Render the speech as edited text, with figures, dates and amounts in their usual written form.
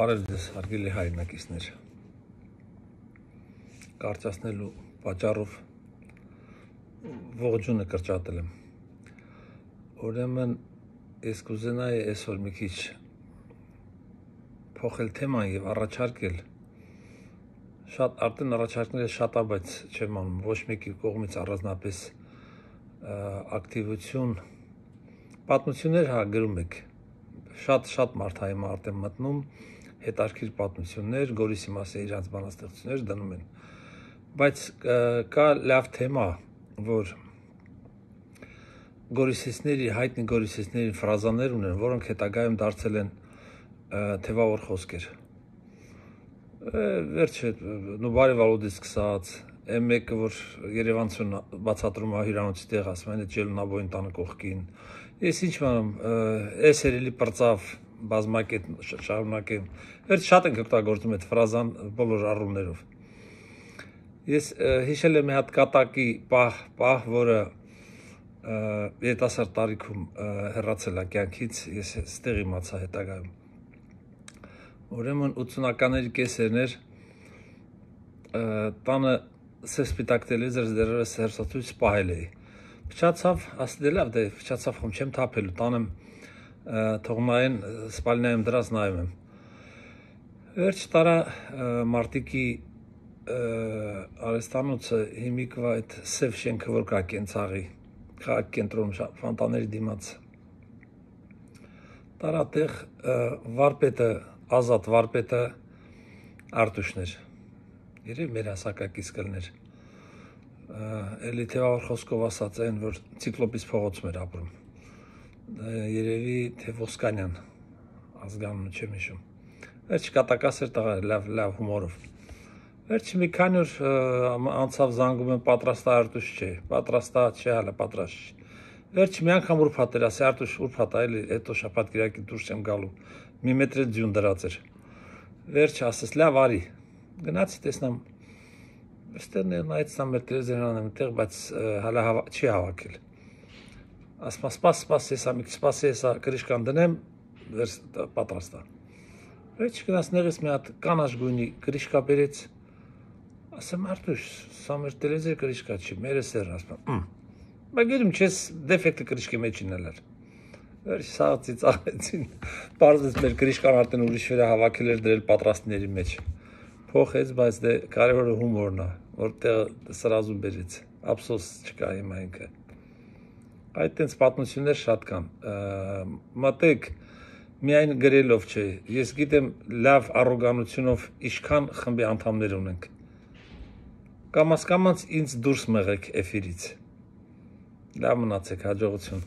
Բարև ձեզ, հարգելի հայրենակիցներ, կարծրացնելու պատճառով ողջունը կրճատել եմ։ Ուրեմն ես կուզենայի այսօր մի քիչ փոխել թեման եւ առաջարկել արդեն առաջարկները շատ է, բայց չեմ անում ոչ մեկի կողմից առանձնապես ակտիվություն պատմություններ գրում եք շատ մարդ հայ մարդ եմ մտնում հետարքիր պատմություններ, Գորիսի մասին իրանց բանաստեղծություններ դնում են, բայց կա լավ թեմա, որ գորիսեցների, հայտնի գորիսեցների ֆրազաներ ունեն, որոնք հետագայում դարձել են թևավոր խոսքեր։ Վերջը նուբարի վալուդից սկսած, մեկը, որ Երևանցուն բացատրում է հյուրանոցի տեղ, ասում են ջելունաբոյին տանը կողքին։ Ես ինչ անում, այս երելի պրծավ բազմակետ շարունակեմ, վերջ շատ ենք օգտագործում այդ ֆրազան բոլոր առումներով։ Ես հիշել եմ մի հատ կատակի պահ, որը երիտասարդ տարիքում հեռացել է կյանքից, ես ստեղ իմացա հետագայում։ Ուրեմն 80-ականների կեսերն էր, տանը սպիտակ տելևիզոր դեռևս հեռուստացույց պահել էի։ Փչացավ, ասել լավ, դե փչացավ, խոմ չեմ թափելու, տանեմ թողնային սպալնայում դրած նայում եմ։ Վերջ տարա մարտիկի արեստանոցը հիմիկվա այդ սև շենքը, որ կա Կենցաղի, քաղաք կենտրոնում ֆանտաների դիմաց։ Տարա տեղ վարպետը, ազատ վարպետը Արտուշն էր։ Երևի մեր հասակակից կլներ։ Էլի թևավոր խոսքով ասած այն, որ ցիկլոպիս փողոցում էր ապրում։ Երևի թե Ոսկանյան ազգանունը չեմ հիշում։ Վերջ կատակաս էր տղա, լավ հումորով։ Վերջ մի քանի օր անցավ զանգում եմ պատրաստա Արտուշ չէ, պատրաստա չէ, հələ պատրաստ չի։ Վերջ մի անգամ ուրբաթ էր, ասի Արտուշ ուրբաթ է, էլի հետո շաբաթ կիրակի դուրս եմ գալու։ Մի մետր ձյուն դրած էր։ Վերջ ասես լավ արի։ Գնացի տեսնամ այստեղ նայեցամ մեր տելևիզորն եմ այդտեղ, բայց հələ չի հավաքել։ Ասում սպաս, հեսա մի քիչ սպասի, հեսա կրիշկան դնեմ, պատրաստ է։ Վերջ գնաց նեղից մի հատ կանաչ գույնի կրիշկա բերեց։ Ասեմ Արտուշ, սա մեր տելևիզոր կրիշկա չի, մեր սերն ասում։ Բայց գիտում չես դեֆեկտը կրիշկի մեջին էլ էր։ Վերջ սաղացի ծաղեցին, պարզվեց մեր կրիշկան արդեն ուրիշ վրա հավաքել էր դրել պատրաստների մեջ։ Փոխեց, բայց դե կարևորը հումորն է, որտեղ սրազում բերեց, ափսոս չկա հիմա ինքը։ Այդ տենց պատմություններ շատ կան, մտեք միայն գրելով չէ, ես գիտեմ լավ առոգանությունով իշքան խմբի անդամներ ունենք, կամաց ինձ դուրս մղեք էֆիրից, լավ մնացեք, հաջողություն։